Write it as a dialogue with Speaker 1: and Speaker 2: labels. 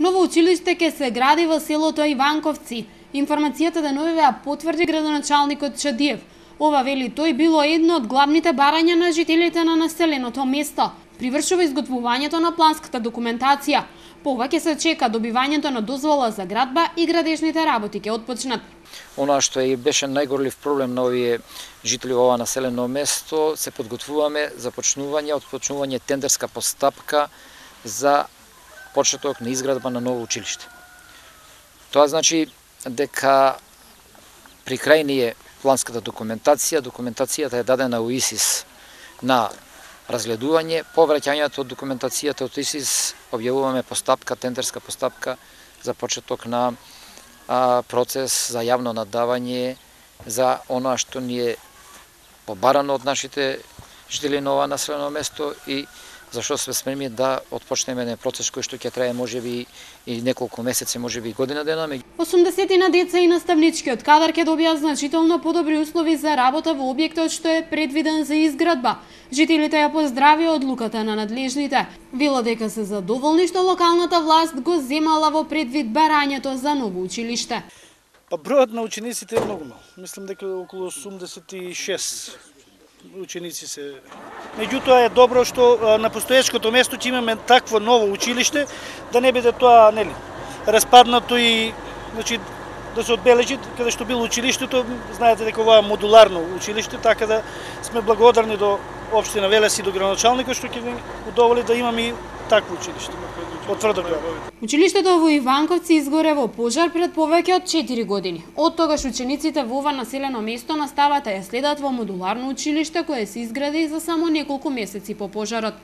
Speaker 1: Ново училиште ќе се гради во селото Иванковци. Информацијата деновивеа потврди градоначалникот Чадиев. Ова, вели тој, било едно од главните барања на жителите на населеното место. Привршува изготвувањето на планската документација. По ова ќе се чека добивањето на дозвола за градба и градежните работи ќе отпочнат.
Speaker 2: Она што и беше најгорлив проблем на овие жители во ова населено место, се подготвуваме за отпочнување тендерска постапка за почеток на изградба на ново училиште. Тоа значи дека при крај ни е планската документација, документацијата е дадена у ИСИС на разгледување, по враќањето од документацијата од ИСИС објавуваме постапка, тендерска постапка за почеток на процес за јавно надавање за она што ни е побарано од нашите жители на ова населено место и зашто сме спремни да отпочнеме еден процес кој што ќе трае можеби и неколку месеци, можеби и година дена.
Speaker 1: 80 на деца и наставничкиот кадар ќе добијат значително подобри услови за работа во објектот што е предвиден за изградба. Жителите ја поздравија одлуката на надлежните. Велат дека се задоволни што локалната власт го земала во предвид барањето за ново училиште.
Speaker 3: Бројот на учениците е многу мал. Мислам дека околу 86 ученици се. Меѓутоа е добро што на постоечкото место ќе имаме такво ново училиште, да не биде тоа распаднато и да се одбележи каде што било училиштето. Знаете дека ова е модуларно училиште, така да сме благодарни до општина Велес и до градоначалникот што ќе ни удоволи да имаме и такво училиште.
Speaker 1: Училиштето во Иванковци изгоре во пожар пред повеќе од 4 години. Од тогаш учениците во ова населено место настават да ја следат во модуларно училиште кое се изгради за само неколку месеци по пожарот.